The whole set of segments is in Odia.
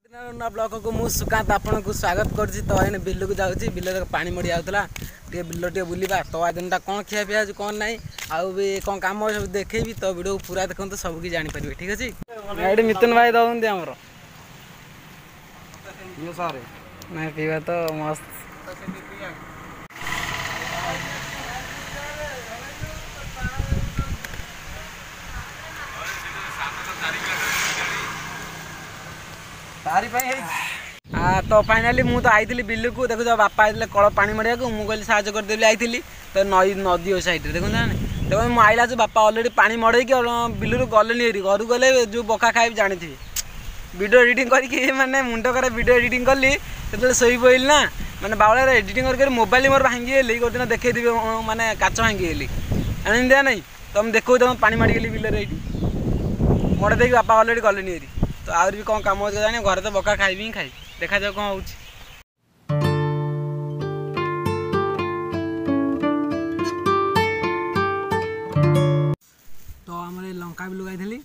ନୂଆ ବ୍ଲଗକୁ ମୁଁ ସୁକାନ୍ତ ଆପଣଙ୍କୁ ସ୍ୱାଗତ କରୁଛି। ତ ଏଇନେ ବିଲକୁ ଯାଉଛି, ବିଲରେ ପାଣି ମଡ଼ି ଯାଉଥିଲା, ଟିକେ ବିଲ ଟିକେ ବୁଲିବା। ତ ଆଜି ଦିନଟା କ'ଣ ଖିଆ ପିଆ ଅଛି କ'ଣ ନାହିଁ ଆଉ ବି କ'ଣ କାମ ସବୁ ଦେଖେଇବି। ତ ଭିଡ଼ିଓକୁ ପୁରା ଦେଖନ୍ତୁ, ସବୁ କିଛି ଜାଣିପାରିବେ, ଠିକ୍ ଅଛି। ଏଇଠି ମିଥୁନ ଭାଇ ଦଉଛନ୍ତି ଆମର ନାଇଁ ପିଇବା ତ ମସ୍ତ। ତ ଫାଇନାଲି ମୁଁ ତ ଆଇଥିଲି ବିଲକୁ, ଦେଖୁଛ ବାପା ଆଇଥିଲେ କଳ ପାଣି ମଡ଼ିବାକୁ, ମୁଁ କହିଲି ସାହାଯ୍ୟ କରିଦେଲି, ଆଇଥିଲି ତ ନଈ ନଦୀ ସାଇଡ଼ରେ ଦେଖନ୍ତୁ ନା। ଦେଖନ୍ତୁ ମୁଁ ଆଇଲା ଯେଉଁ ବାପା ଅଲରେଡ଼ି ପାଣି ମଡ଼େଇକି ବିଲରୁ ଗଲେନି ହେରି, ଘରକୁ ଗଲେ ଯେଉଁ ବକା ଖାଇବି ଜାଣିଥିବେ। ଭିଡ଼ିଓ ଏଡ଼ିଟିଂ କରିକି ମାନେ ମୁଣ୍ଡ ଖରାପ, ଭିଡ଼ିଓ ଏଡ଼ିଟିଂ କଲି ସେତେବେଳେ ଶୋଇ ପଡ଼ିଲି ନା, ମାନେ ବାଉଳାରେ ଏଡ଼ିଟିଂ କରି କରି ମୋବାଇଲ ମୋର ଭାଙ୍ଗିଗଲି। ଗୋଟେ ଦିନ ଦେଖେଇଦେବି, ମାନେ କାଚ ଭାଙ୍ଗିଗଲି ଏମିତି ନାଇଁ ତ ମୁଁ ଦେଖାଉଛି। ତମ ପାଣି ମାଡ଼ିଗଲି ବିଲରେ, ଏଇଠି ମଡ଼େଇ ଦେଇକି ବାପା ଅଲରେଡ଼ି ଗଲେନି ହେରି। ତ ଆହୁରି ବି କ'ଣ କାମ ଅଛି ଜାଣି, ଘରେ ତ ବକା ଖାଇବି ହିଁ ଖାଇବି, ଦେଖାଯାଉ କ'ଣ ହେଉଛି। ତ ଆମର ଏ ଲଙ୍କା ବି ଲଗାଇଥିଲି।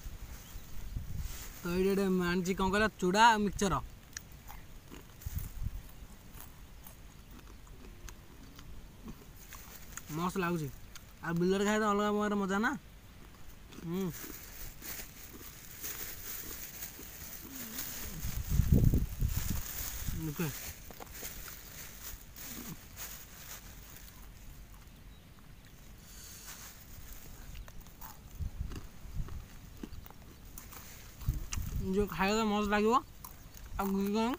ତ ଏଇଠି ଗୋଟେ ଆଣିଛି କ'ଣ କହିଲ, ଚୁଡ଼ା ଆଉ ମିକ୍ସଚର ମସ୍ତ ଲାଗୁଛି। ଆଉ ବିଲରେ ଖାଇବା ଅଲଗା ପ୍ରକାର ମଜା ନା। ଓକେ, ଯେଉଁ ଖାଇବା ମସ୍ତ ଲାଗିବ। ଆଉ କ'ଣ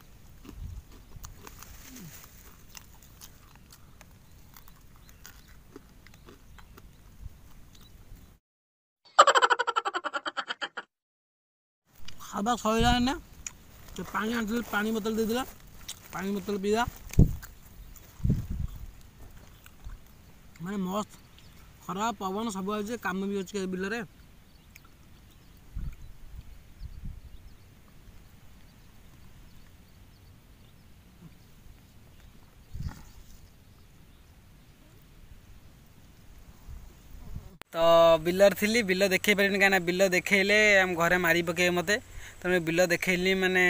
ଖାଇବା ସରିଲା ନା, ପାଣି ଆଣିଥିଲି, ପାଣି ବୋତଲ ଦେଇଥିଲା, ପାଣି ବୋତଲ ପିଇବା ମାନେ ମସ୍ତ। ଖରା ପବନ ସବୁ ଆଉଛି, କାମ ବି ଅଛି ବିଲରେ। ତ ବିଲରେ ଥିଲି, ବିଲ ଦେଖେଇ ପାରିବିନି, କାହିଁକିନା ବିଲ ଦେଖେଇଲେ ଆମ ଘରେ ମାରି ପକେଇବେ ମୋତେ। ତେଣୁ ବିଲ ଦେଖେଇଲି ମାନେ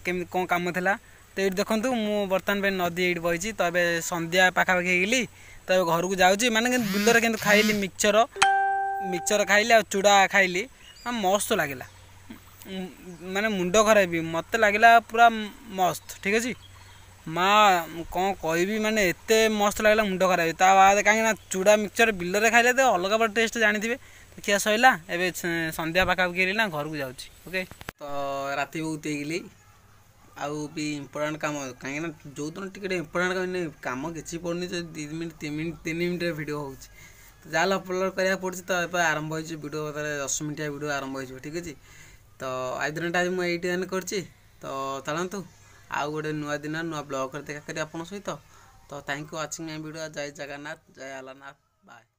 କେମିତି କ'ଣ କାମ ଥିଲା। ତ ଏଇଠି ଦେଖନ୍ତୁ, ମୁଁ ବର୍ତ୍ତମାନ ପାଇଁ ନଦୀ ଏଇଠି ବଇଛି। ତ ଏବେ ସନ୍ଧ୍ୟା ପାଖାପାଖି ହେଇଗଲି, ତ ଏବେ ଘରକୁ ଯାଉଛି। ମାନେ କିନ୍ତୁ ବିଲରେ କିନ୍ତୁ ଖାଇଲି ମିକ୍ସଚର ଖାଇଲି ଆଉ ଚୁଡ଼ା ଖାଇଲି, ମସ୍ତ ଲାଗିଲା, ମାନେ ମୁଣ୍ଡ ଖରାପ ବି ମୋତେ ଲାଗିଲା ପୁରା ମସ୍ତ, ଠିକ୍ ଅଛି। ମା କ'ଣ କହିବି, ମାନେ ଏତେ ମସ୍ତ ଲାଗିଲା ମୁଣ୍ଡ ଖରାପ। ତା ବାଦ କାହିଁକିନା ଚୁଡ଼ା ମିକ୍ସଚର ବିଲରେ ଖାଇଲେ ତ ଅଲଗା ପ୍ରକାର ଟେଷ୍ଟ ଜାଣିଥିବେ। ଖିଆ ସରିଲା, ଏବେ ସନ୍ଧ୍ୟା ପାଖାପାଖି ହେଇଗଲି ନା, ଘରକୁ ଯାଉଛି। ଓକେ, ତ ରାତି ବହୁତ ହେଇଗଲି ଆଉ ବି ଇମ୍ପୋର୍ଟାଣ୍ଟ କାମ, କାହିଁକିନା ଯେଉଁଦିନ ଟିକେ ଟିକେ ଇମ୍ପୋର୍ଟାଣ୍ଟ କାମ କାମ କିଛି ପଡ଼ୁନି, ଯଦି 2 ମିନିଟ୍ 3 ମିନିଟ୍ 3 ମିନିଟ୍ରେ ଭିଡ଼ିଓ ହେଉଛି ତ ଯାହାହେଲେ ଅପଲୋଡ଼ କରିବାକୁ ପଡ଼ୁଛି। ତ ଏବେ ଆରମ୍ଭ ହେଇଯିବ ଭିଡ଼ିଓ, ତାହେଲେ 10 ମିନିଟିଆ ଭିଡ଼ିଓ ଆରମ୍ଭ ହେଇଯିବ, ଠିକ୍ ଅଛି। ତ ଆଜି ଦିନଟା ଆଜି ମୁଁ ଏଇଠି ଏଣ୍ଡ କରୁଛି। ତ ଚାଲନ୍ତୁ ଆଉ ଗୋଟେ ନୂଆ ଦିନ ନୂଆ ବ୍ଲଗ୍ରେ ଦେଖା କରି ଆପଣଙ୍କ ସହିତ। ତ thank you watching my video. Jay Jagannath, Jay Alarnath, bye.